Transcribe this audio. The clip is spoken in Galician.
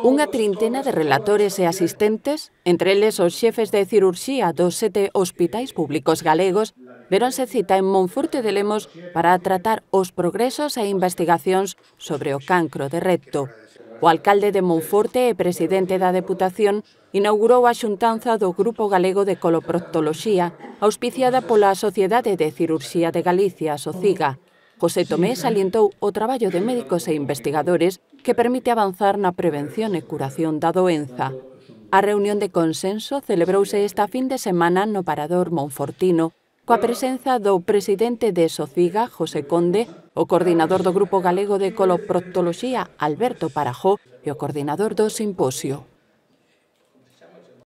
Unha trintena de relatores e asistentes, entre eles os xefes de cirurxía dos 7 hospitais públicos galegos, veronse cita en Monforte de Lemos para tratar os progresos e investigacións sobre o cancro de recto. O alcalde de Monforte e presidente da Deputación inaugurou a xuntanza do Grupo Galego de Coloproctoloxía, auspiciada pola Sociedade de Cirurxía de Galicia, SOCIGA. José Tomé salientou o traballo de médicos e investigadores que permite avanzar na prevención e curación da doenza. A reunión de consenso celebrouse esta fin de semana no Parador monfortino, coa presenza do presidente de SOCIGA, José Conde, o coordinador do Grupo Galego de Coloproctoloxía, Alberto Parajó, e o coordinador do simposio.